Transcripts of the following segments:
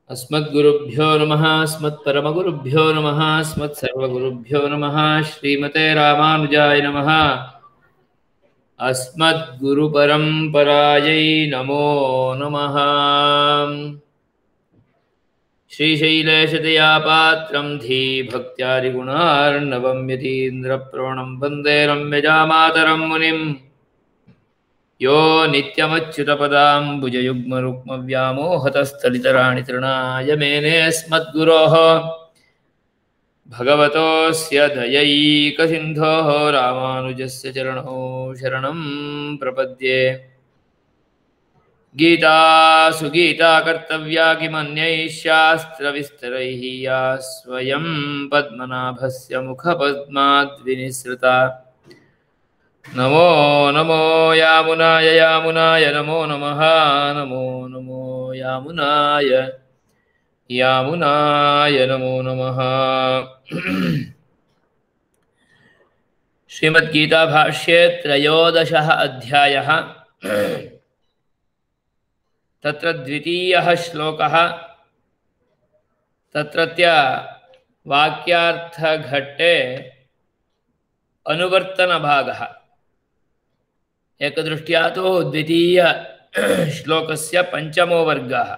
अस्मद्गुरुभ्यो नमः अस्मत्परमगुरुभ्यो नमः अस्मत्सर्वगुरुभ्यो नमः श्रीमते रामानुजाय नमः अस्मद्गुरुपरम्परायै नमो नमः। श्रीशैलेशदयापात्रं धीभक्त्यादिगुणार्णवं यतीन्द्रप्रवणं वन्दे रम्यजामातरं मुनिम् यो नित्यमच्युतपदाम्बुजयुग्मरुक्मव्यामोहतस्थलितराणि तृणाय मेने अस्मद्गुरोः भगवतोऽस्य दयैकसिन्धोः रामानुजस्य चरणौ शरणं प्रपद्ये। गीतासु गीता कर्तव्या किमन्यैः शास्त्रविस्तरैः या स्वयं पद्मनाभस्य मुखपद्माद्विनिसृता। नमो नमो यामुनाय यामुनाय नमो नमः नमो नमो यामुनाय यामुनाय नमो नमः। श्रीमद्गीताभाष्ये त्रयोदशः अध्यायः। तत्र द्वितीयः श्लोकः। तत्रत्य वाक्यार्थघट्टे अनुवर्तनभागः। एकदृष्ट्या तु द्वितीय श्लोकस्य पंचमो वर्गः।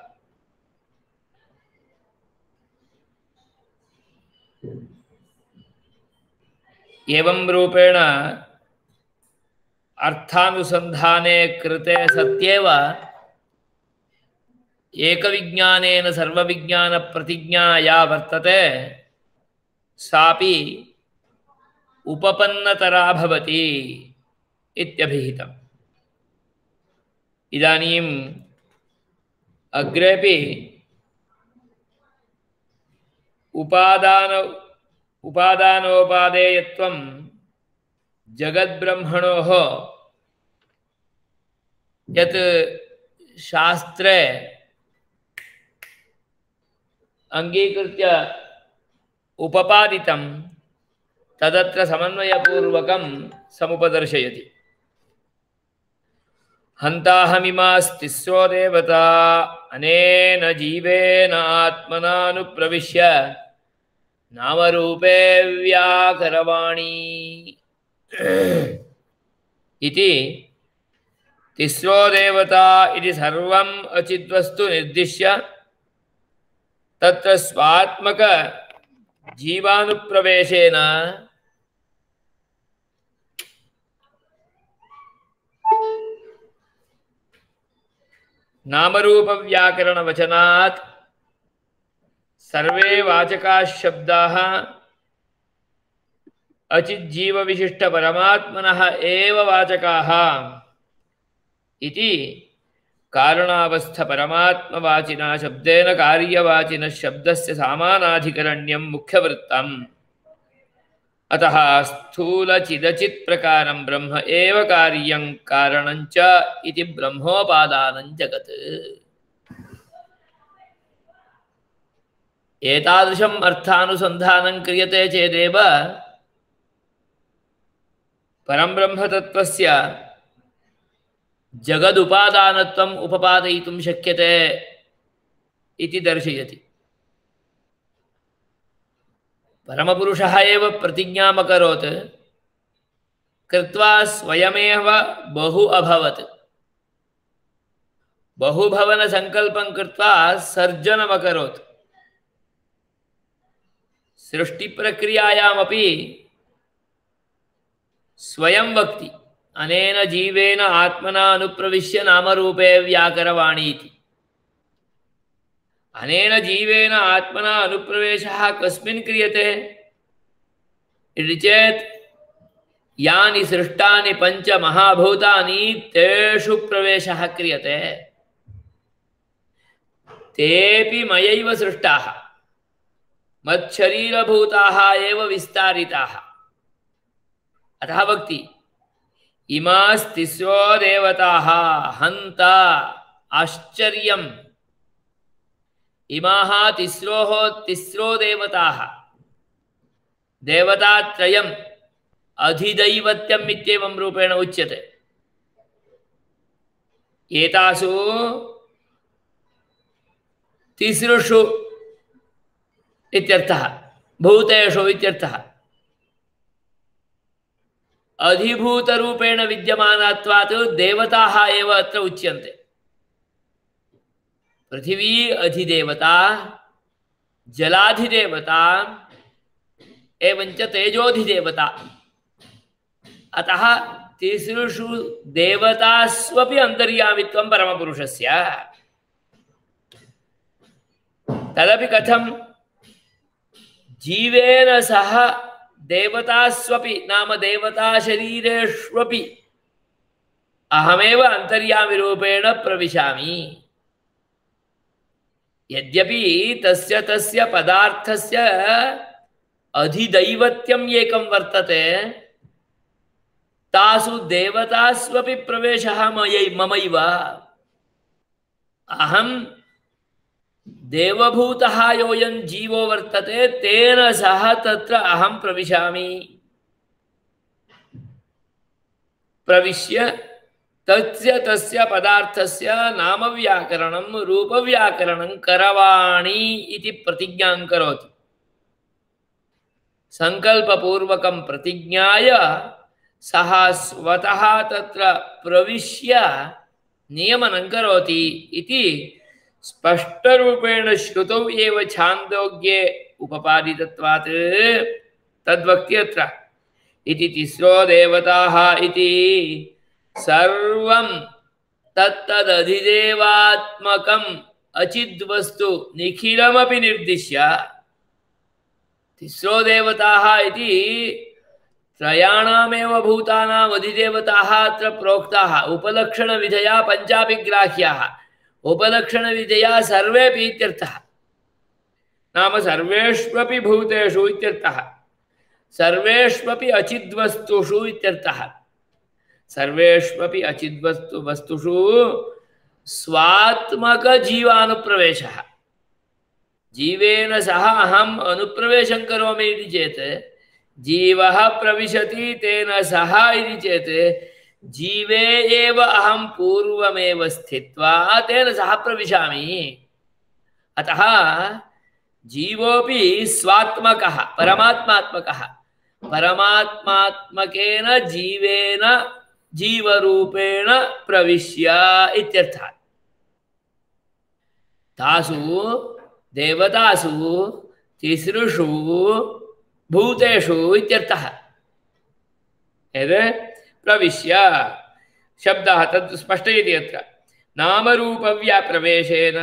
एवं रूपेण अर्थानुसन्धाने कृते सत्येव एकविज्ञानेन सर्वविज्ञानप्रतिज्ञा या वर्तते सापि उपपन्नतरा भवति इत्यभिहितम्। इदानीम् अग्रेपि उपादानोपादेयत्वं जगद्ब्रह्मणोः यत् शास्त्रे अंगीकृत्य उपपादितं तदत्र समन्वयपूर्वकं समुपदर्शयति। हन्ताहमिमास्तिस्रो देवता अनेन जीवेन आत्मनानुप्रविश्य नामरूपे व्याकरवाणी इति तिस्रो देवता इति सर्वम् अचिद्वस्तु निर्दिश्य तत्र स्वात्मक जीवानुप्रवेशेन नामरूप व्याकरण वचनात् सर्वे वाचकाः शब्दाः अचिज्जीव विशिष्ट परमात्मनः एव वाचकाः इति कारणावस्थ परमात्मवाचिना शब्देन कार्यवाचिनः शब्दस्य सामानाधिकरण्यं मुख्यवृत्तम्। अतः स्थूलचिदचित् प्रकारं ब्रह्म एव कार्यं कारणञ्च इति ब्रह्मोपादानं जगत्। एतादृशम् अर्थानुसन्धानं क्रियते चेदेव परं ब्रह्मतत्त्वस्य जगदुपादानत्वम् उपपादयितुं शक्यते इति दर्शयति। परमपुरुषः एव प्रतिज्ञाम् अकरोत्, कृत्वा स्वयमेव बहु अभवत्। बहुभवनसङ्कल्पं कृत्वा सर्जनम् अकरोत्। सृष्टिप्रक्रियायामपि स्वयं वक्ति, अनेन जीवेन आत्मना अनुप्रविश्य नामरूपे व्याकरवाणी इति। अनेन जीवेन आत्मना अनुप्रवेशः कस्मिन् क्रियते इति चेत् यानि सृष्टानि पंच महाभूतानि तेषु प्रवेशः क्रियते। तेऽपि मयैव सृष्टाः, मच्छरीरभूताः एव विस्तारिताः। अतः वक्ति, इमास्तिस्रो देवताः हन्त आश्चर्यम्। इमाः तिस्रो देवताः, देवतात्रयम् अधिदैवत्यम् इत्येवं रूपेण उच्यते। एतासु तिसृषु इत्यर्थः, भूतेषु इत्यर्थः। अधिभूतरूपेण विद्यमानात्वात् देवताः एव अत्र उच्यन्ते। पृथिवी अधिदेवता, जलाधिदेवता एवञ्च तेजोधिदेवता। अतः तिसृषु देवतास्वपि अन्तर्यामित्वं परमपुरुषस्य। तदपि कथं? जीवेन सह देवतास्वपि नाम देवताशरीरेष्वपि अहमेव अन्तर्यामिरूपेण प्रविशामि। यद्यपि तस्य तस्य पदार्थस्य अधिदैवत्यम् एकं वर्तते, तासु देवतास्वपि प्रवेशः ममैव। अहं देवभूतः योऽयं जीवो वर्तते, तेन सह तत्र अहं प्रविशामि। प्रविश्य तस्य तस्य पदार्थस्य नामव्याकरणं रूपव्याकरणं करवाणि इति प्रतिज्ञां करोति। संकल्पपूर्वकं प्रतिज्ञाय सः स्वतः तत्र प्रविश्य नियमनं करोति इति स्पष्टरूपेण श्रुतौ एव छान्दोग्ये उपपादितत्वात् तद्वक्ति अत्र। इति तिस्रो देवताः इति सर्वं तत्तदधिदेवात्मकम् अचिद्वस्तु निखिलमपि निर्दिश्य। तिस्रो देवताः इति त्रयाणामेव भूतानाम् अधिदेवताः अत्र प्रोक्ताः। उपलक्षणविधया पञ्चापि ग्राह्याः, उपलक्षणविधया सर्वेपि इत्यर्थः। नाम सर्वेष्वपि भूतेषु इत्यर्थः, सर्वेष्वपि अचिद्वस्तुषु इत्यर्थः। सर्वेष्वपि अचिद्वस्तुषु स्वात्मकजीवानुप्रवेशः। जीवेन सह अहम् अनुप्रवेशं करोमि इति चेत्, जीवः प्रविशति तेन सह इति चेत्, जीवे एव अहं पूर्वमेव स्थित्वा तेन सह प्रविशामि। अतः जीवोऽपि स्वात्मकः, परमात्मात्मकः। परमात्मात्मकेन जीवेन जीवरूपेण प्रविश्य इत्यर्थः। तासु देवतासु तिसृषु भूतेषु इत्यर्थः। यद् प्रविश्य शब्दः तत् स्पष्टयति अत्र। नामरूपव्याप्रवेशेन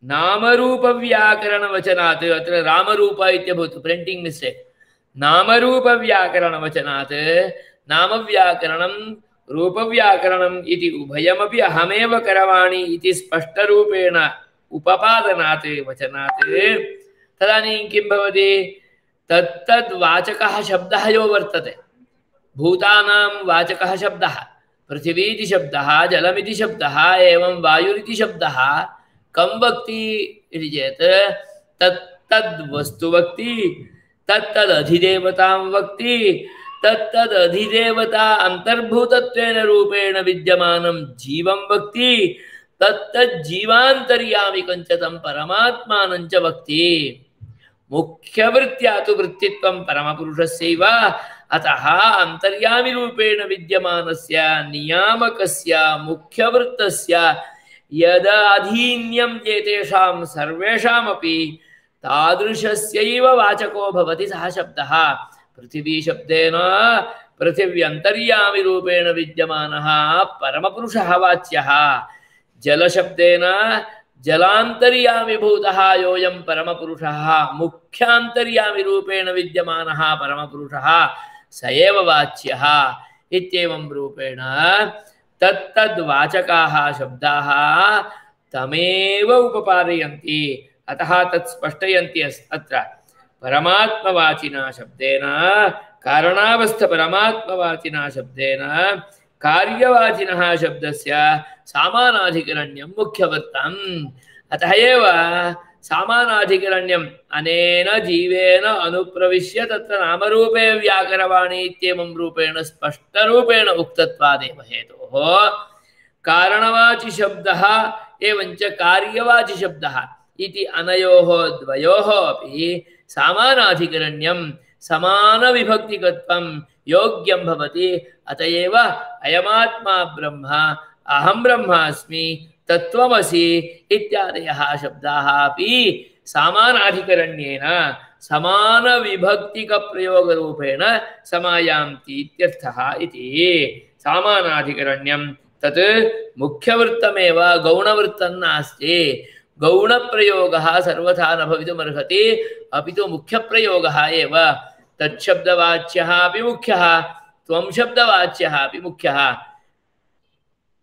नामरूपव्याकरणवचनात्, अत्र रामरूप इत्यभूत्, प्रिण्टिङ्ग् मिस्टेक्। नामरूपव्याकरणवचनात् नामव्याकरणं रूपव्याकरणम् इति उभयमपि अहमेव करवाणि इति स्पष्टरूपेण उपपादनात् वचनात् तदानीं किं भवति? तत्तद्वाचकः शब्दः यो वर्तते, भूतानां वाचकः शब्दः, पृथिवीति शब्दः, जलमिति शब्दः, एवं वायुरिति शब्दः कं वक्ति इति चेत् तत्तद्वस्तु वक्ति, तत्तदधिदेवतां वक्ति, तत्तदधिदेवता अन्तर्भूतत्वेन रूपेण विद्यमानं जीवं वक्ति, तत्तज्जीवान्तर्यामिकं च तं परमात्मानं च वक्ति। मुख्यवृत्त्या तु वृत्तित्वं परमपुरुषस्यैव। अतः अन्तर्यामिरूपेण विद्यमानस्य नियामकस्य मुख्यवृत्तस्य यदाधीन्यं एतेषां सर्वेषामपि तादृशस्यैव वाचको भवति सः शब्दः। पृथिवी शब्देन पृथिव्यन्तर्यामिरूपेण विद्यमानः परमपुरुषः वाच्यः। जलशब्देन जलान्तर्यामिभूतः योऽयं परमपुरुषः मुख्यान्तर्यामिरूपेण विद्यमानः परमपुरुषः स एव वाच्यः। इत्येवं रूपेण तत्तद्वाचकाः शब्दाः तमेव उपपादयन्ति। अतः तत् स्पष्टयन्ति अत्र। परमात्मवाचिना शब्देन, कारणावस्थपरमात्मवाचिना शब्देन कार्यवाचिनः शब्दस्य सामानाधिकरण्यं मुख्यवृत्तम्। अतः एव सामानाधिकरण्यम् अनेन जीवेन अनुप्रविश्य तत्र नामरूपे व्याकरवाणि इत्येवं रूपेण स्पष्टरूपेण उक्तत्वादेव हेतोः कारणवाचि शब्दः एवञ्च कार्यवाचिशब्दः इति अनयोः द्वयोः अपि सामानाधिकरण्यं समानविभक्तिकत्वं योग्यं भवति। अत एव अयमात्मा ब्रह्म अहं ब्रह्मास्मि तत्त्वमसि इत्यादयः शब्दाः अपि सामानाधिकरण्येन समानविभक्तिकप्रयोगरूपेण समायान्ति इत्यर्थः इति। सामानाधिकरण्यं तत् मुख्यवृत्तमेव गौणवृत्तं नास्ति। गौणप्रयोगः सर्वथा न भवितुमर्हति, अपि तु मुख्यप्रयोगः एव। तच्छब्दवाच्यः अपि मुख्यः, त्वं शब्दवाच्यः अपि मुख्यः।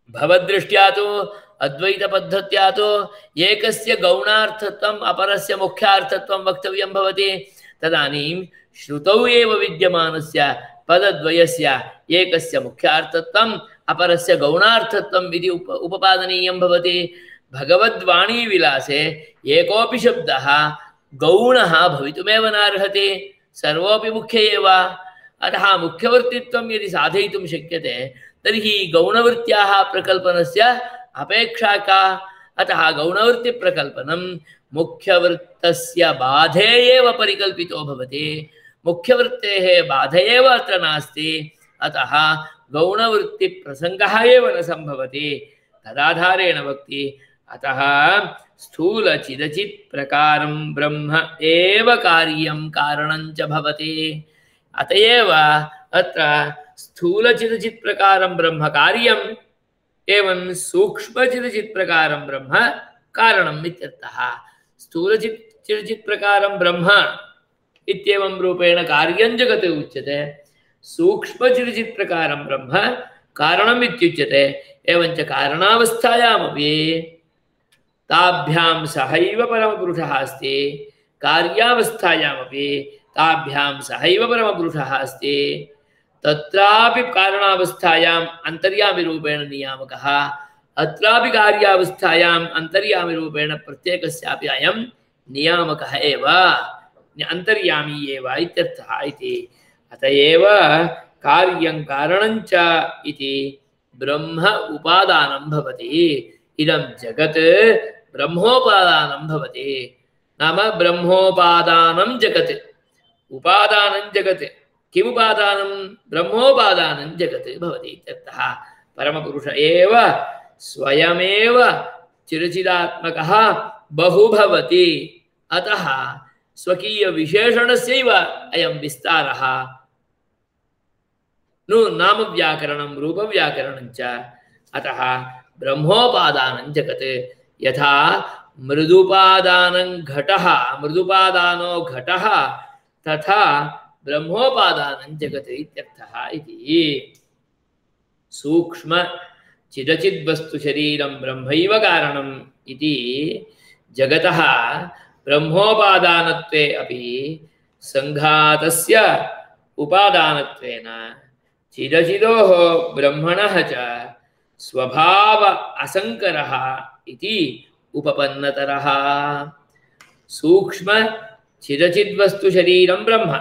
भवद्दृष्ट्या तु अद्वैतपद्धत्या तु एकस्य गौणार्थत्वम् अपरस्य मुख्यार्थत्वं वक्तव्यं भवति। तदानीं श्रुतौ एव विद्यमानस्य पदद्वयस्य एकस्य मुख्यार्थत्वम् अपरस्य गौणार्थत्वम् इति उपपादनीयं भवति। भगवद्वाणीविलासे एकोऽपि शब्दः गौणः भवितुमेव नार्हति, सर्वोऽपि मुख्य एव। अतः मुख्यवर्तित्वं यदि साधयितुं शक्यते तर्हि गौणवृत्त्याः प्रकल्पनस्य अपेक्षा का? अतः गौणवृत्तिप्रकल्पनं मुख्यवृत्तस्य बाधे एव परिकल्पितो भवति, मुख्यवृत्तेः बाधे एव अत्र नास्ति। अतः गौणवृत्तिप्रसङ्गः एव न सम्भवति। तदाधारेण वक्ति अतः स्थूलचिदचित् प्रकारं ब्रह्म एव कार्यं कारणं च भवति। अतएव अत्र स्थूलचिदचित् प्रकारं ब्रह्म कार्यम् एवं सूक्ष्मचिदचित् प्रकारं ब्रह्म कारणम् इत्यर्थः। स्थूलचिदचित् प्रकारं ब्रह्म इत्येवं रूपेण कार्यं जगत् उच्यते, सूक्ष्मचिदचित् प्रकारं ब्रह्म कारणम् इत्युच्यते। एवञ्च कारणावस्थायामपि ताभ्यां सहैव परमपुरुषः अस्ति, कार्यावस्थायामपि ताभ्यां सहैव परमपुरुषः अस्ति। तत्रापि कारणावस्थायाम् अन्तर्यामिरूपेण नियामकः, अत्रापि कार्यावस्थायाम् अन्तर्यामिरूपेण प्रत्येकस्यापि अयं नियामकः एव, अन्तर्यामी एव इत्यर्थः इति। अत एव कार्यं कारणं च इति ब्रह्म उपादानं भवति। इदं जगत् ब्रह्मोपादानं भवति। नाम ब्रह्मोपादानं जगत्, उपादानं जगत्, किमुपादानं? ब्रह्मोपादानं जगत् भवति इत्यर्थः। परमपुरुष एव स्वयमेव चिरचिदात्मकः बहु भवति। अतः स्वकीयविशेषणस्यैव अयं विस्तारः। नु नामव्याकरणं रूपव्याकरणं च। अतः ब्रह्मोपादानं जगत् यथा मृदुपादानं घटः, मृदुपादानो घटः, तथा ब्रह्मोपादानं जगत् इत्यर्थः इति। सूक्ष्म चिदचिद्वस्तु शरीरं ब्रह्मैव कारणम् इति जगतः ब्रह्मोपादानत्वे अपि संघातस्य उपादानत्वेन चिदचिदोः ब्रह्मणः च स्वभाव असंकरः इति उपपन्नतरः। सूक्ष्म चिदचिद्वस्तु शरीरं ब्रह्म,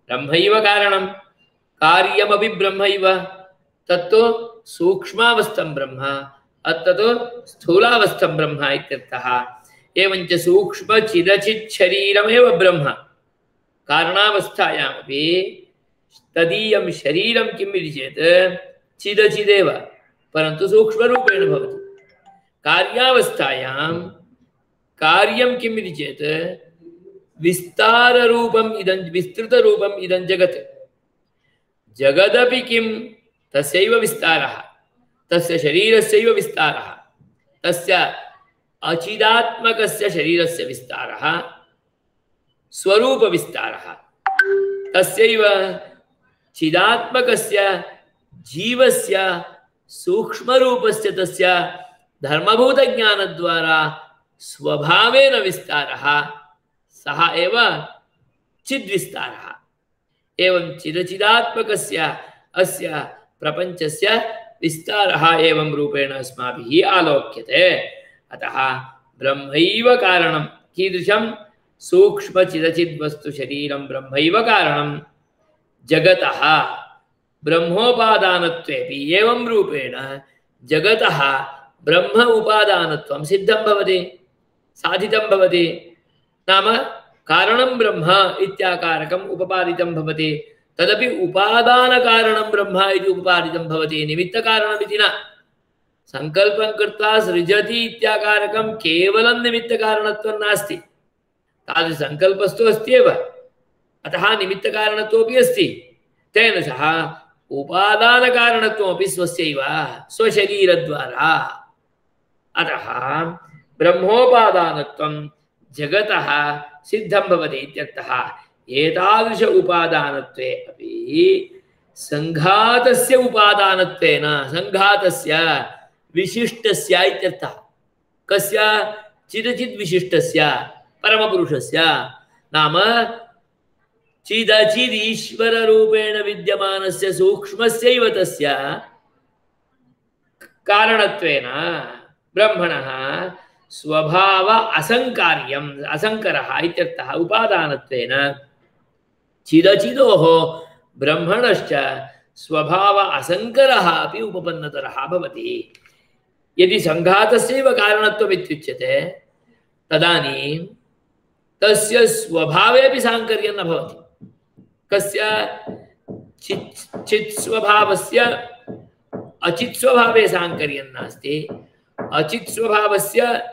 ब्रह्मैव कारणं, कार्यमपि ब्रह्मैव। तत्तु सूक्ष्मावस्थं ब्रह्म, अत्तु स्थूलावस्थं ब्रह्म इत्यर्थः। एवञ्च सूक्ष्म चिदचित् शरीरमेव ब्रह्म, कारणावस्थायामपि तदीयं शरीरं किम् इति चेत् चिदचिदेव, परन्तु सूक्ष्मरूपेण भवति। कार्यावस्थायां कार्यं किम् इति चेत् विस्ताररूपम् इदं, विस्तृतरूपम् इदं जगत्। जगदपि किं? तस्यैव विस्तारः, तस्य शरीरस्यैव विस्तारः, तस्य अचिदात्मकस्य शरीरस्य विस्तारः, स्वरूपविस्तारः, तस्यैव चिदात्मकस्य जीवस्य सूक्ष्मरूपस्य तस्य धर्मभूतज्ञानद्वारा स्वभावेन विस्तारः, सः एव चिद्विस्तारः। एवं चिदचिदात्मकस्य अस्य प्रपञ्चस्य विस्तारः एवं रूपेण अस्माभिः आलोक्यते। अतः ब्रह्मैव कारणं। कीदृशं? सूक्ष्मचिदचिद्वस्तु शरीरं ब्रह्मैव कारणं जगतः ब्रह्मोपादानत्वेपि एवं रूपेण जगतः ब्रह्म उपादानत्वं सिद्धं भवति, साधितं भवति। नाम कारणं ब्रह्म इत्याकारकम् उपपादितं भवति। तदपि उपादानकारणं ब्रह्म इति उपपादितं भवति, निमित्तकारणमिति न। संकल्पं कृत्वा सृजति इत्याकारकं केवलं निमित्तकारणत्वं नास्ति। तादृशसंकल्पस्तु अस्ति एव, अतः निमित्तकारणत्वमपि अस्ति। तेन सह उपादानकारणत्वमपि स्वस्यैव स्वशरीरद्वारा। अतः ब्रह्मोपादानत्वं जगतः सिद्धं भवति इत्यर्थः। एतादृश उपादानत्वे अपि संघातस्य उपादानत्वेन, संघातस्य विशिष्टस्य इत्यर्थः। कस्य? चिदचित् विशिष्टस्य परमपुरुषस्य। नाम चिदचिद् ईश्वर रूपेण विद्यमानस्य सूक्ष्मस्यैव तस्य कारणत्वेन ब्रह्मणः स्वभाव असंकार्यम्, असंकरः इत्यर्थः। उपादानत्वेन चिदचिदोः ब्रह्मणश्च स्वभाव असंकरः अपि उपपन्नतरः भवति। यदि संघातस्यैव कारणत्वम् इत्युच्यते तदानीं तस्य स्वभावेपि साङ्कर्यं न भवति। कस्य? चित् स्वभावस्य अचित् स्वभावे साङ्कर्यं नास्ति, अचित् स्वभावस्य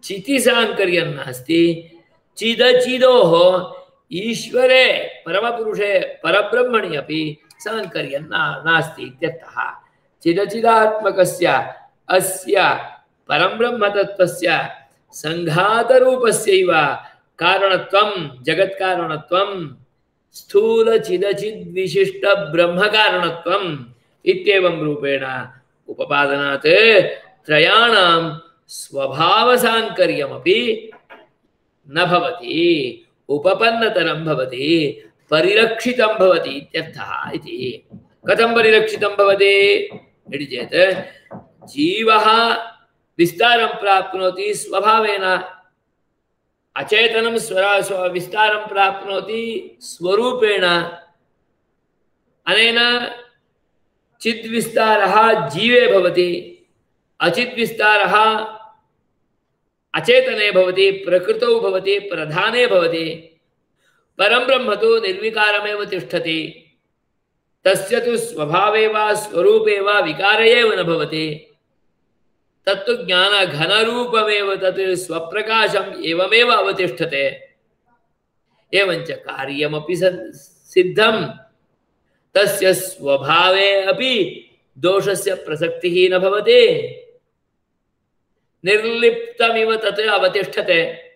चिति साङ्कर्यं नास्ति। चिदचिदोः ईश्वरे परमपुरुषे परब्रह्मणि अपि साङ्कर्यं नास्ति इत्यर्थः। चिदचिदात्मकस्य अस्य परब्रह्मतत्त्वस्य संघातरूपस्यैव कारणत्वं, जगत्कारणत्वं, स्थूलचिदचिद्विशिष्टब्रह्मकारणत्वम् इत्येवं रूपेण उपपादनात् त्रयाणां स्वभावसाङ्कर्यमपि न भवति, उपपन्नतरं भवति, परिरक्षितं भवति इत्यर्थः इति। कथं परिरक्षितं भवति इति चेत् जीवः विस्तारं प्राप्नोति स्वभावेन, अचेतनं विस्तारं प्राप्नोति स्वरूपेण। अनेन चिद्विस्तारः जीवे भवति, अचिद्विस्तारः अचेतने भवति, प्रकृतौ भवति, प्रधाने भवति। परं ब्रह्म तु निर्विकारमेव तिष्ठति। तस्य तु स्वभावे वा स्वरूपे वा विकार एव न भवति। तत्तु ज्ञानघनरूपमेव, तत् स्वप्रकाशम् एवमेव अवतिष्ठते। एवञ्च कार्यमपि सिद्धं, तस्य स्वभावे अपि दोषस्य प्रसक्तिः न भवति। निर्लिप्तमिव तत् अवतिष्ठते।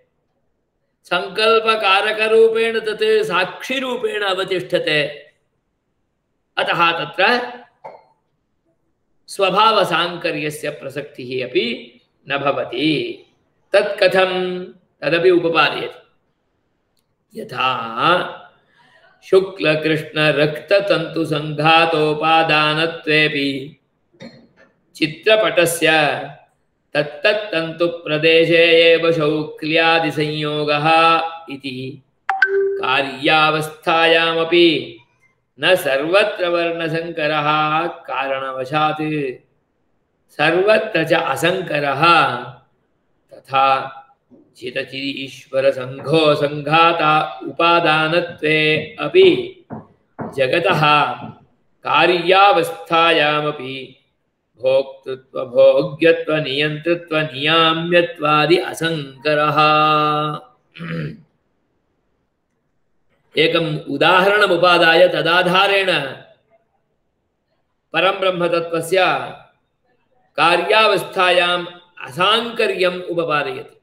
संकल्पकारकरूपेण तत् साक्षिरूपेण अवतिष्ठते। अतः तत्र स्वभावसाङ्कर्यस्य प्रसक्तिः अपि न भवति। तत् कथं? तदपि उपपादयति। यथा शुक्लकृष्णरक्ततन्तुसङ्घातोपादानत्वेऽपि चित्रपटस्य तत्तत्तन्तुप्रदेशे एव शौक्ल्यादिसंयोगः इति कार्यावस्थायामपि न सर्वत्र वर्णसंकरः कारणवशात् सर्वत्र च असंकरः। तथा चिदचिदीश्वर संघो संघाता उपादानत्वे अपि जगतः कार्यावस्थायामपि भोक्तृत्व भोग्यत्व नियंतृत्व नियाम्यत्वादि असंकरः। एकम् उदाहरणम् उपादाय तदाधारेण परं ब्रह्मतत्त्वस्य कार्यावस्थायाम् असाङ्कर्यम् उपपादयति।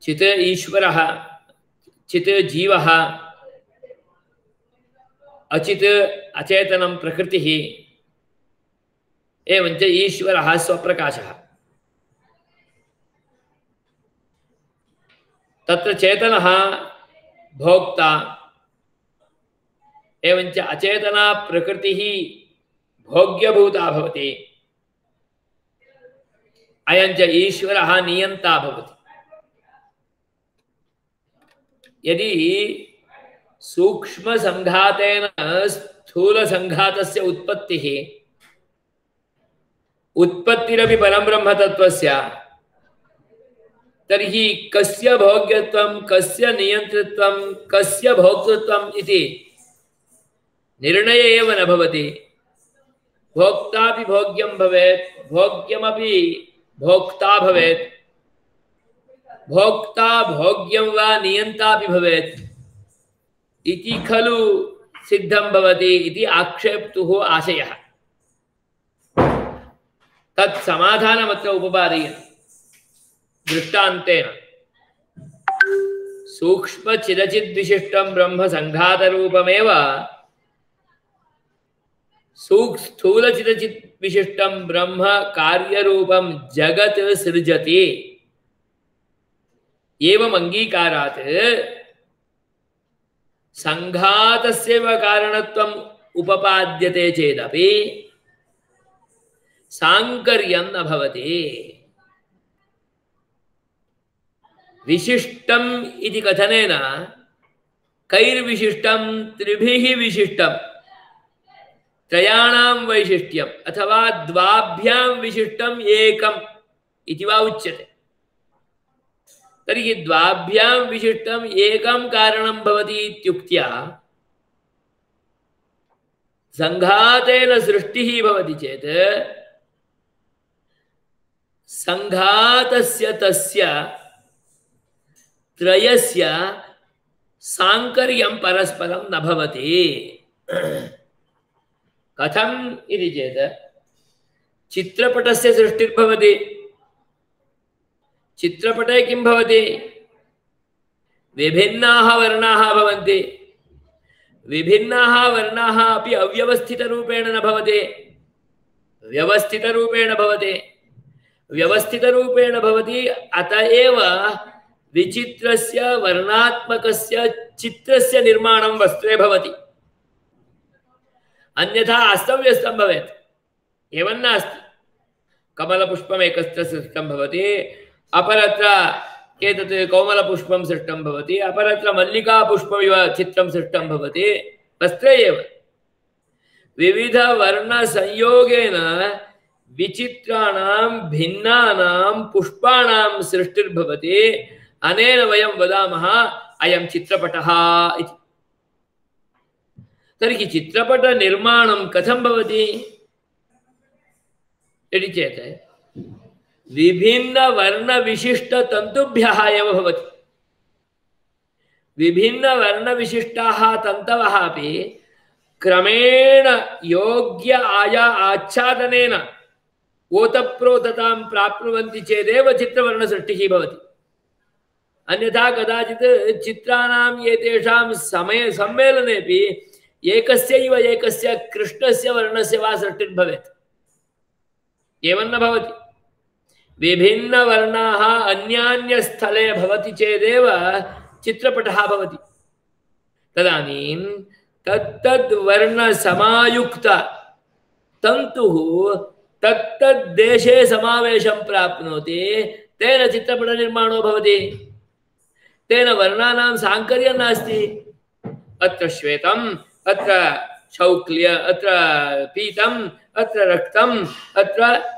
चित् ईश्वरः, चित् जीवः, अचित् अचेतनं प्रकृतिः, एवञ्च ईश्वरः स्वप्रकाशः। तत्र चेतनः भोक्ता, एवञ्च अचेतना प्रकृतिः भोग्यभूता भवति, अयञ्च ईश्वरः नियन्ता भवति। यदि सूक्ष्म संघातेन स्थूलसङ्घातस्य उत्पत्तिरपि परब्रह्म तत्त्वस्य तर्हि कस्य भोग्यत्वं कस्य नियन्तृत्वं कस्य भोक्तृत्वम् इति निर्णय एव न भवति। भोक्तापि भोग्यं भवेत्, भोग्यमपि भोक्ता भवेत्, भोक्ता भोग्यं वा नियन्तापि भवेत् इति खलु सिद्धं भवति इति आक्षेप्तुः आशयः। तत् समाधानमत्र उपपादयति दृष्टान्तेन। सूक्ष्मचिदचिद्विशिष्टं ब्रह्म सङ्घातरूपमेव स्थूलचिदचित् विशिष्टं ब्रह्म कार्यरूपं जगत् सृजति। एवं अंगीकारात् संघातस्यैव कारणत्वम् उपपाद्यते चेदपि सांकर्यं न भवति। विशिष्टम् इति कथनेन कैर्विशिष्टं त्रिभिः विशिष्टं त्रयाणां वैशिष्ट्यम् अथवा द्वाभ्यां विशिष्टम् एकम् इति वा उच्यते। तर्हि द्वाभ्यां विशिष्टम् एकं कारणं भवति इत्युक्त्या संघातेन सृष्टिः भवति चेत् संघातस्य तस्य त्रयस्य सांकर्यं परस्परं न भवति। कथम् इति चेत् चित्रपटस्य सृष्टिर्भवति। चित्रपटे किं भवति? विभिन्नाः वर्णाः भवन्ति। विभिन्नाः वर्णाः अपि अव्यवस्थितरूपेण न भवति, व्यवस्थितरूपेण भवति। व्यवस्थितरूपेण भवति, अत एव विचित्रस्य वर्णात्मकस्य चित्रस्य निर्माणं वस्त्रे भवति। अन्यथा अस्तव्यस्तं भवेत्। एवं नास्ति। कमलपुष्पम् एकत्र सृष्टं भवति, अपरत्र एतत् कौमलपुष्पं सृष्टं भवति, अपरत्र मल्लिकापुष्पमिव चित्रं सृष्टं भवति। वस्त्रे एव विविधवर्णसंयोगेन विचित्राणां भिन्नानां पुष्पाणां सृष्टिर्भवति। अनेन वयं वदामः अयं चित्रपटः इति। तर्हि चित्रपटनिर्माणं कथं भवति इति चेत् विभिन्नवर्णविशिष्टतन्तुभ्यः एव भवति। विभिन्नवर्णविशिष्टाः तन्तवः अपि क्रमेण योग्य आच्छादनेन ओतप्रोततां प्राप्नुवन्ति चेदेव चित्रवर्णसृष्टिः भवति। अन्यथा कदाचित् चित्राणां एतेषां समय सम्मेलनेपि एकस्यैव एकस्य कृष्णस्य वर्णस्य वा सृष्टिर्भवेत्। एवं न भवति। विभिन्नवर्णाः अन्यान्यस्थले भवति चेदेव चित्रपटः भवति। तदानीं तत्तद्वर्णसमायुक्त तन्तुः तत्तद्देशे समावेशं प्राप्नोति, तेन चित्रपटनिर्माणो भवति। तेन वर्णानां सांकर्यं नास्ति। अत्र श्वेतम्, अत्र शौक्ल्य, अत्र पीतम्, अत्र रक्तम्, अत्र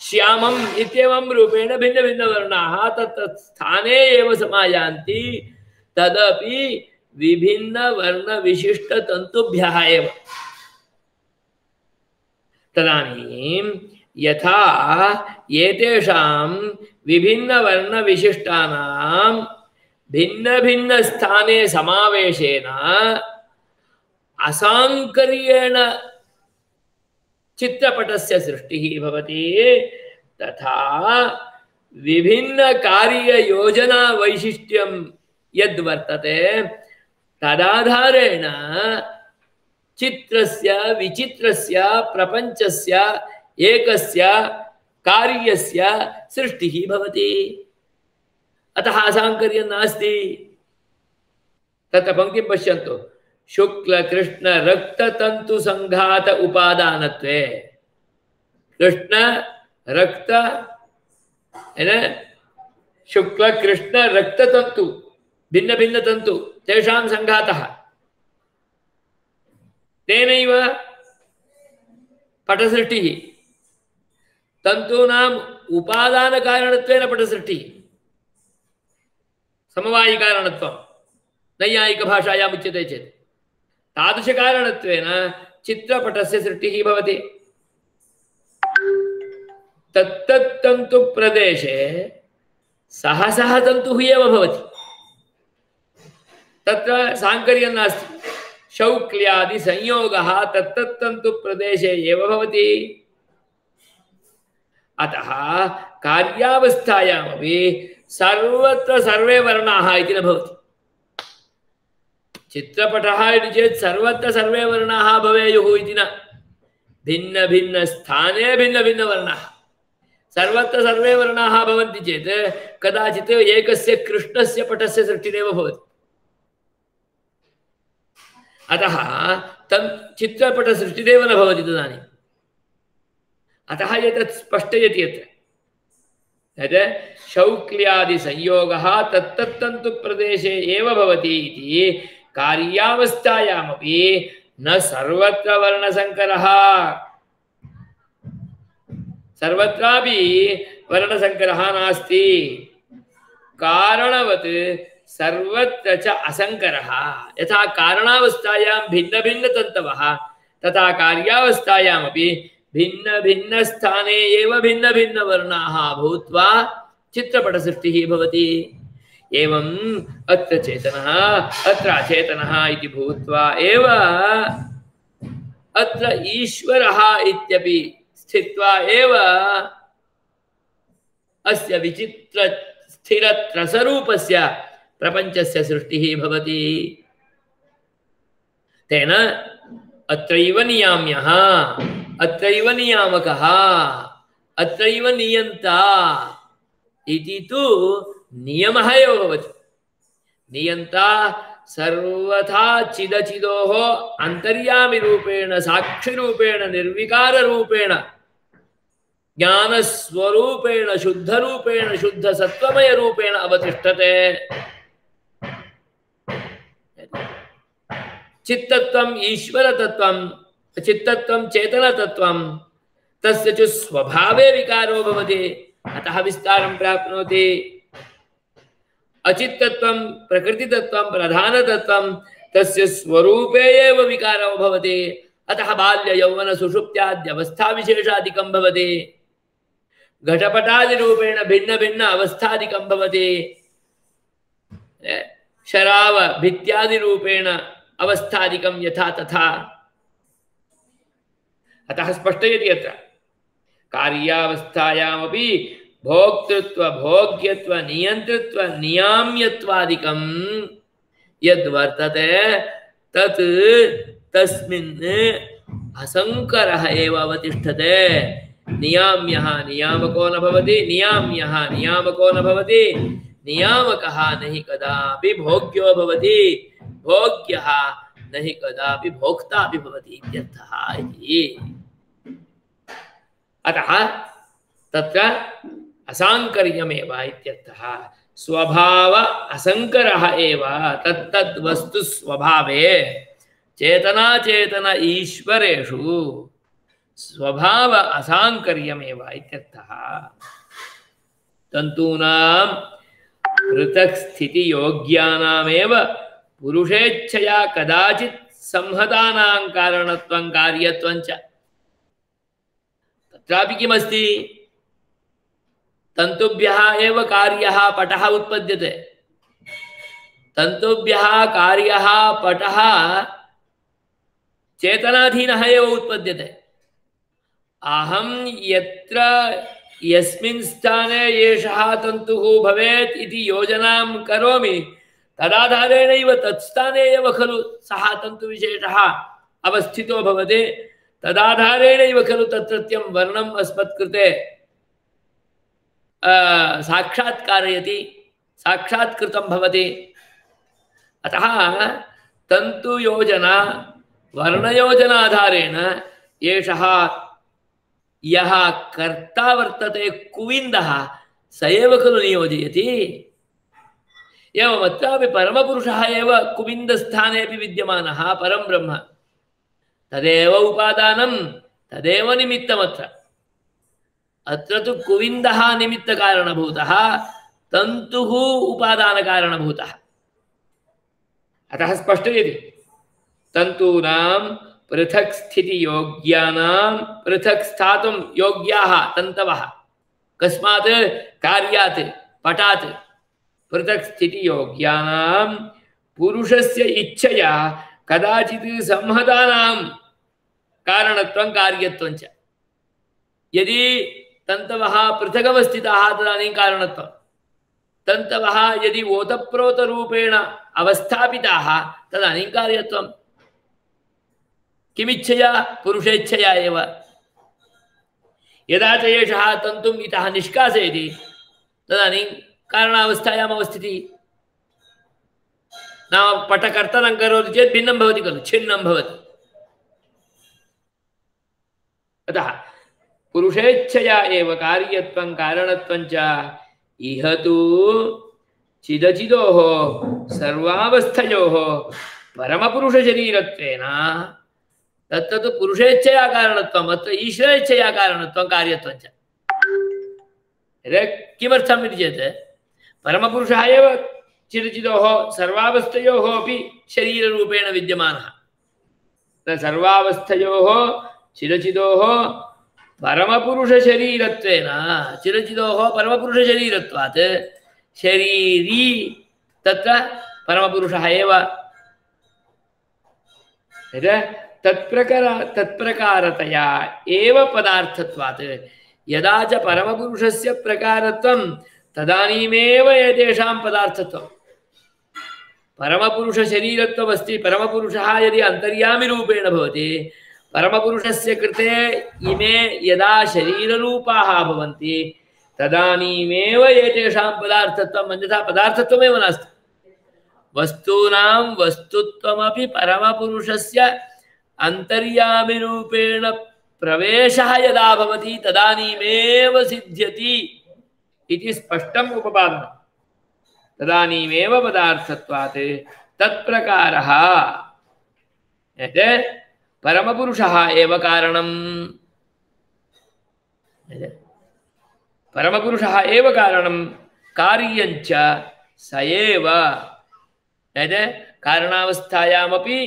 श्यामम् इत्येवं रूपेण भिन्नभिन्नवर्णाः तत्तत् स्थाने एव समायान्ति। तदपि विभिन्नवर्णविशिष्टतन्तुभ्यः एव। तदानीं यथा एतेषां विभिन्नवर्णविशिष्टानां भिन्नभिन्नस्थाने समावेशेन असाङ्कर्येण चित्रपटस्य सृष्टिः भवति, तथा विभिन्नकार्ययोजना वैशिष्ट्यं यद्वर्तते तदाधारेण चित्रस्य विचित्रस्य प्रपञ्चस्य एकस्य कार्यस्य सृष्टिः भवति। अतः असाङ्कर्यं नास्ति। तत्र पंक्तिं पश्यन्तु। शुक्ल कृष्ण रक्त तंतु संघात उपादानत्वे। कृष्ण रक्त शुक्ल कृष्ण रक्त तंतु भिन्न भिन्न तंतु तेषां संघातः। तेनैव पटसृष्टिः तन्तूनाम् उपादानकारणत्वेन पटसृष्टिः समवायिकारणत्वं नैयायिकभाषायाम् उच्यते चेत् तादृशकारणत्वेन चित्रपटस्य सृष्टिः भवति। तत्तत्तन्तुप्रदेशे सह सह तन्तुः एव भवति। तत्र साङ्कर्यं नास्ति। शौक्ल्यादि संयोगः तत्तत्तन्तुप्रदेशे एव भवति। अतः कार्यावस्थायामपि सर्वत्र सर्वे वर्णाः इति न भवति। चित्रपटः इति चेत् सर्वत्र सर्वे वर्णाः भवेयुः इति न। भिन्न भिन्न स्थाने भिन्न भिन्न वर्णाः। सर्वत्र सर्वे वर्णाः भवन्ति चेत् कदाचित् एकस्य कृष्णस्य पटस्य सृष्टिरेव भवति। अतः चित्रपटसृष्टिरेव न भवति तदानीम्। अतः एतत् स्पष्टयति यत् शौक्ल्यादि संयोगः तत्तत्तन्तुप्रदेशे एव भवति इति कार्यावस्थायामपि न सर्वत्र वर्णसङ्करः। सर्वत्रापि वर्णसङ्करः नास्ति। कारणवत् सर्वत्र च असङ्करः। यथा कारणावस्थायां भिन्न भिन्न तन्तवः तथा कार्यावस्थायामपि भिन्न भिन्न स्थाने एव भिन्न भिन्न वर्णाः भूत्वा चित्रपटसृष्टिः भवति। एवम् अत्र चेतनः अत्र अचेतनः इति भूत्वा एव अत्र ईश्वरः इत्यपि स्थित्वा एव अस्य विचित्र स्थिरत्रसरूपस्य प्रपञ्चस्य सृष्टिः भवति। तेन अत्रैव नियाम्यः, अत्रैव नियामकः, अत्रैव नियन्ता इति तु नियमः एव भवति। नियन्ता सर्वथा चिदचिदोः अन्तर्यामिरूपेण साक्षिरूपेण निर्विकाररूपेण ज्ञानस्वरूपेण शुद्धरूपेण शुद्धसत्त्वमयरूपेण अवतिष्ठते। चित्तत्वम् ईश्वरतत्त्वं चित्तत्वं चेतनतत्त्वं तस्य च स्वभावे विकारो भवति। अतः विस्तारं प्राप्नोति। अचित्तत्वं प्रकृतितत्वं प्रधानतत्वं तस्य स्वरूपे एव विकारो भवति। अतः बाल्य यौवन सुषुप्त्याद्यवस्थाविशेषादिकं भवति। घटपटादिरूपेण भिन्न भिन्न अवस्थादिकं भवति। शराव भित्यादिरूपेण अवस्थादिकं यथा तथा। अतः स्पष्टयति अत्र कार्यावस्थायामपि भोक्तृत्व भोग्यत्व नियंतृत्व नियाम्यत्वादिकं यद्वर्तते तत् तस्मिन् असंकरः एव अवतिष्ठते। नियाम्यः नियामको न भवति, नियाम्यः नियामको न भवति, नियामकः न हि कदापि भोग्यो भवति, भोग्यः न हि कदापि भोक्ता अपि भवति इत्यर्थः इति। अतः तत्र असाङ्कर्यमेव इत्यर्थः। स्वभाव असङ्करः एव तत्तद् वस्तु स्वभावे चेतना चेतन ईश्वरेषु स्वभाव असाङ्कर्यमेव इत्यर्थः। तन्तूनां पृथक् स्थिति योग्यानामेव पुरुषेच्छया कदाचित् संहतानां कारणत्वं कार्यत्वं च। तत्रापि किमस्ति? तन्तुभ्यः एव कार्यः पटः उत्पद्यते। तन्तुभ्यः कार्यः पटः चेतनाधीनः एव उत्पद्यते। अहं यत्र यस्मिन् स्थाने एषः तन्तुः भवेत् इति योजनां करोमि तदाधारेणैव तत्स्थाने एव खलु सः तन्तुविशेषः अवस्थितो भवति। तदाधारेणैव खलु तत्रत्यं वर्णम् अस्मत्कृते साक्षात्कारयति, साक्षात्कृतं भवति। अतः तन्तुयोजना वर्णयोजनाधारेण एषः यः कर्ता वर्तते कुविन्दः स एव खलु नियोजयति। एवमत्रापि परमपुरुषः एव कुविन्दस्थानेपि विद्यमानः परं ब्रह्म। तदेव उपादानं तदेव निमित्तमत्र अत्र तु कुविन्दः निमित्तकारणभूतः तन्तुः उपादानकारणभूतः अतः स्पष्टयति तन्तूनां पृथक् स्थितियोग्यानां पृथक् स्थातुं योग्याः तन्तवः कस्मात् कार्यात् पटात् पृथक् स्थितियोग्यानां पुरुषस्य इच्छया कदाचित् संहतानां कारणत्वं कार्यत्वं च यदि तन्तवः पृथगवस्थिताः तदानीं कारणत्वं तन्तवः यदि ओतप्रोतरूपेण अवस्थापिताः तदानीं कार्यत्वं किमिच्छया पुरुषेच्छया एव यदा च एषः तन्तुम् इतः निष्कासयति तदानीं कारणावस्थायाम् अवस्थितिः नाम पटकर्तनं करोति चेत् भिन्नं भवति खलु छिन्नं भवति अतः पुरुषेच्छया एव कार्यत्वं कारणत्वं च इह तु चिदचिदोः सर्वावस्थयोः परमपुरुषशरीरत्वेन तत्तु पुरुषेच्छया कारणत्वम् अत्र ईश्वरेच्छया कारणत्वं कार्यत्वं च किमर्थम् इति चेत् परमपुरुषः एव चिदचिदोः सर्वावस्थयोः अपि शरीररूपेण विद्यमानः सर्वावस्थयोः चिदचिदोः परमपुरुषशरीरत्वेन चिदचिदोः परमपुरुषशरीरत्वात् शरीरी तत्र परमपुरुषः एव तत्प्रकारतया एव पदार्थत्वात् यदा च परमपुरुषस्य प्रकारत्वं तदानीमेव एतेषां पदार्थत्वं परमपुरुषशरीरत्वमस्ति परमपुरुषः यदि अन्तर्यामिरूपेण भवति परमपुरुषस्य कृते इमे यदा शरीररूपाः भवन्ति तदानीमेव एतेषां पदार्थत्वम् अन्यथा पदार्थत्वमेव नास्ति वस्तूनां वस्तुत्वमपि परमपुरुषस्य अन्तर्यामिरूपेण प्रवेशः यदा भवति तदानीमेव सिद्ध्यति इति स्पष्टम् उपपादनम् तदानीमेव पदार्थत्वात् तत्प्रकारः परमपुरुषः एव कारणम् परमपुरुषः एव कारणं कार्यञ्च स एव कारणावस्थायामपि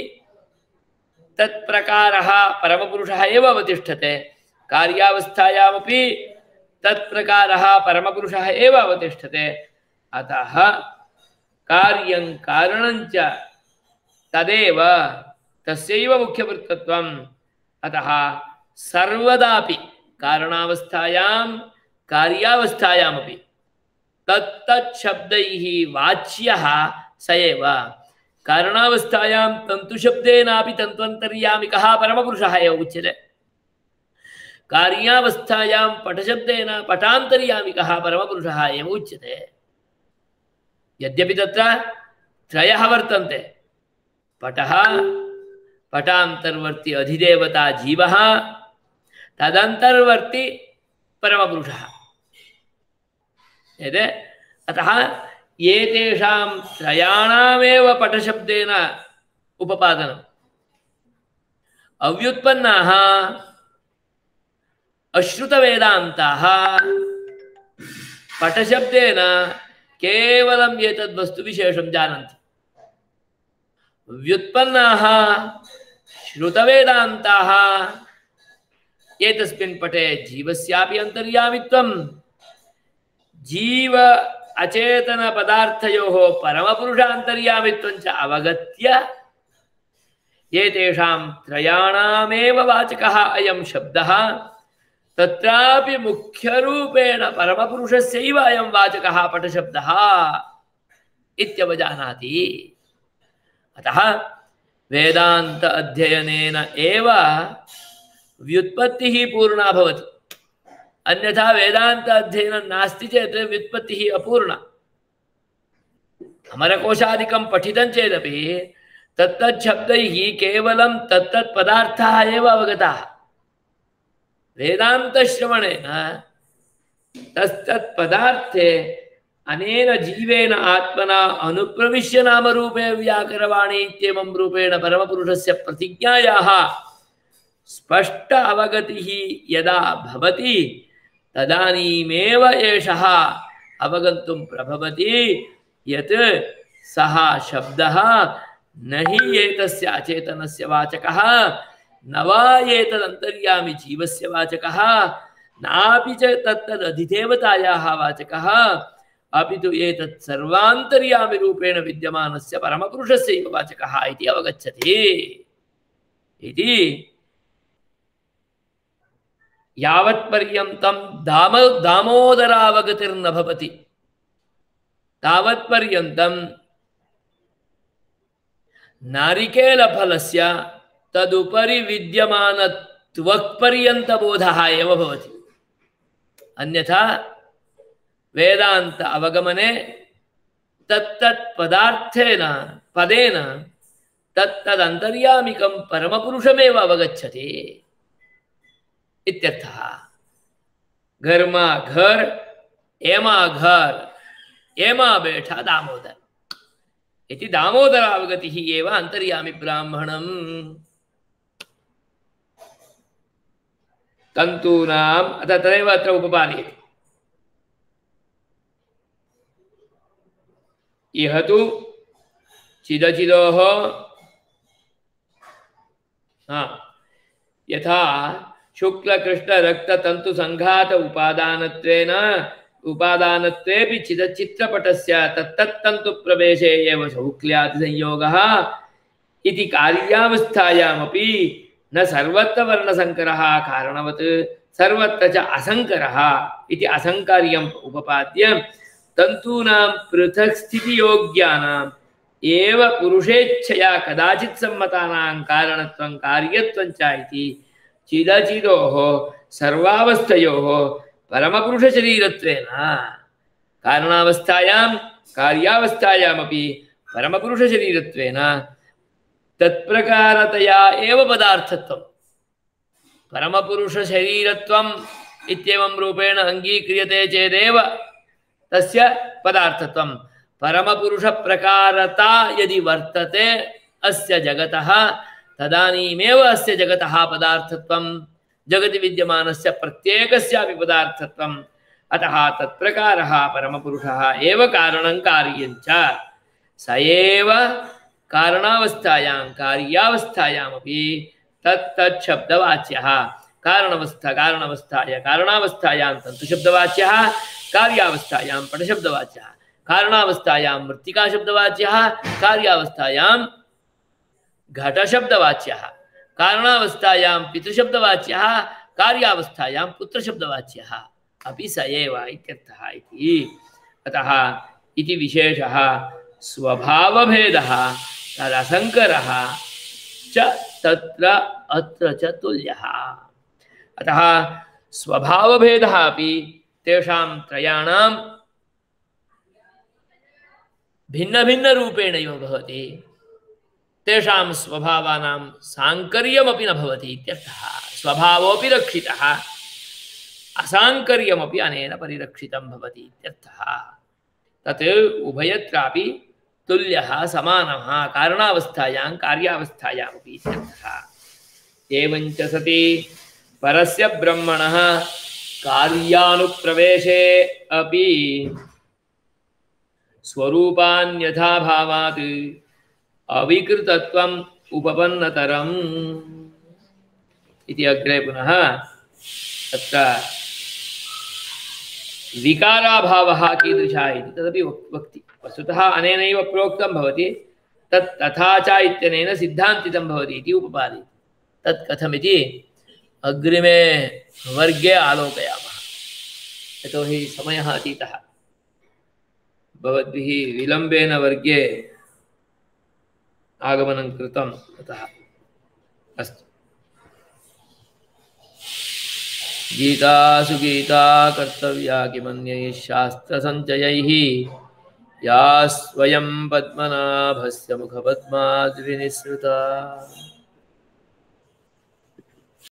तत्प्रकारः परमपुरुषः एव अवतिष्ठते कार्यावस्थायामपि तत्प्रकारः परमपुरुषः एव अवतिष्ठते अतः कार्यं कारणञ्च तदेव तस्यैव मुख्यवृत्तत्वम् अतः सर्वदापि कारणावस्थायां कार्यावस्थायामपि तत्तत् शब्दैः वाच्यः स एव कारणावस्थायां तन्तुशब्देनापि तन्त्वन्तर्यामिकः परमपुरुषः एव उच्यते कार्यावस्थायां पटशब्देन पटान्तर्यामिकः परमपुरुषः एव उच्यते यद्यपि तत्र त्रयः वर्तन्ते पटः पटान्तर्वर्ती अधिदेवता जीवः तदन्तर्वर्ती परमपुरुषः अतः एतेषां त्रयाणामेव पटशब्देन उपपादनम् अव्युत्पन्नाः अश्रुतवेदान्ताः पटशब्देन केवलं एतद्वस्तुविशेषं जानन्ति व्युत्पन्नाः श्रुतवेदान्ताः एतस्मिन् पटे जीवस्यापि अन्तर्यामित्वं जीव अचेतन पदार्थयोः परमपुरुषान्तर्यामित्वं च अवगत्य एतेषां त्रयाणामेव वाचकः अयं शब्दः तत्रापि मुख्यरूपेण परमपुरुषस्यैव अयं वाचकः पटशब्दः इत्यवजानाति अतः वेदान्त अध्ययनेन एव व्युत्पत्तिः पूर्णा भवति अन्यथा वेदांत अध्ययनं नास्ति चेत् व्युत्पत्तिः अपूर्णा अमरकोशादिकं पठितं चेदपि तत्तत् शब्दैः केवलं तत्तत् पदार्थाः एव अवगताः वेदान्तश्रवणेन तत्तत् पदार्थे अनेन जीवेन आत्मना अनुप्रविश्य नामरूपे व्याकरवाणी इत्येवं रूपेण परमपुरुषस्य प्रतिज्ञायाः स्पष्ट अवगतिः यदा भवति तदानीमेव एषः अवगन्तुं प्रभवति यत् सः शब्दः न हि एतस्य अचेतनस्य वाचकः न वा एतदन्तर्यामि जीवस्य वाचकः नापि च तत्तदधिदेवतायाः वाचकः अपि तु एतत् सर्वान्तर्यामि रूपेण विद्यमानस्य परमपुरुषस्यैव वाचकः इति अवगच्छति इति यावत्पर्यन्तं दामोदरावगतिर्न भवति तावत्पर्यन्तं नारिकेलफलस्य तदुपरि विद्यमानत्वक्पर्यन्तबोधः एव भवति। अन्यथा वेदांत अवगमने तत्तत् पदार्थेन पदेन तत्तदन्तर्यामिकं परमपुरुषमेव अवगच्छति इत्यर्थः। घरमा घर एमा घर एमा बैठा दामोदर इति दामोदरावगतिः एव अन्तर्यामि ब्राह्मणम्। तन्तूनाम् अतः तदेव अत्र उपपादयति। इह तु चिदचिदोः यथा शुक्लकृष्णरक्ततन्तु संघात उपादानत्वेपि चिदचित्रपटस्य तत्तत्तन्तु प्रवेशे एव सौक्ल्यादिसंयोगः इति कार्यावस्थायामपि न सर्वत्र वर्णसंकरः कारणवत् सर्वत्र च असंकरः इति असंकार्यम् उपपाद्य तन्तूनां पृथक् स्थितियोग्यानाम् एव पुरुषेच्छया कदाचित् सम्मतानां कारणत्वं कार्यत्वं च इति चिदचिदोः सर्वावस्थयोः परमपुरुषशरीरत्वेन कारणावस्थायां कार्यावस्थायामपि परमपुरुषशरीरत्वेन तत्प्रकारतया एव पदार्थत्वं परमपुरुषशरीरत्वम् इत्येवं रूपेण अङ्गीक्रियते चेदेव तस्य पदार्थत्वं परमपुरुषप्रकारता यदि वर्तते अस्य जगतः तदानीमेव अस्य जगतः पदार्थत्वं जगति विद्यमानस्य प्रत्येकस्यापि पदार्थत्वम्। अतः तत्प्रकारः परमपुरुषः एव कारणं कार्यं च स एव कारणावस्थायां कार्यावस्थायामपि तत्तच्छब्दवाच्यः कारणावस्थायां तन्तुशब्दवाच्यः कार्यावस्थायां पटशब्दवाच्यः कारणावस्थायां मृत्तिकाशब्दवाच्यः कार्यावस्थायां घटशब्दवाच्यः कारणावस्थायां पितृशब्दवाच्यः कार्यावस्थायां पुत्रशब्दवाच्यः अपि स एव इत्यर्थः इति। अतः इति विशेषः स्वभावभेदः तदसंकरः च तत्र अत्र च तुल्यः। अतः स्वभावभेदः अपि तेषां त्रयाणां भिन्नभिन्नरूपेणैव भवति। तेषां स्वभावानां साङ्कर्यमपि न भवति इत्यर्थः। स्वभावोऽपि रक्षितः असाङ्कर्यमपि अनेन परिरक्षितं भवति इत्यर्थः। तत् उभयत्रापि तुल्यः समानः कारणावस्थायां कार्यावस्थायामपि इत्यर्थः। एवञ्च सति परस्य ब्रह्मणः कार्यानुप्रवेशे अपि स्वरूपान्यथा भावात् अविकृतत्वम् उपपन्नतरम् इति अग्रे पुनः तत्र विकाराभावः कीदृशः इति तदपि वक्ति। वस्तुतः अनेनैव प्रोक्तं भवति तत् तथा च इत्यनेन सिद्धान्तितं भवति इति उपपादयति। तत् कथमिति अग्रिमे वर्गे आलोकयामः। यतोहि समयः अतीतः। भवद्भिः विलम्बेन वर्गे आगमनं कृतम् अतः अस्तु। गीतासु गीता कर्तव्या किमन्यैः शास्त्रसञ्चयैः या स्वयं पद्मनाभस्य मुखपद्माद्विनिसृता।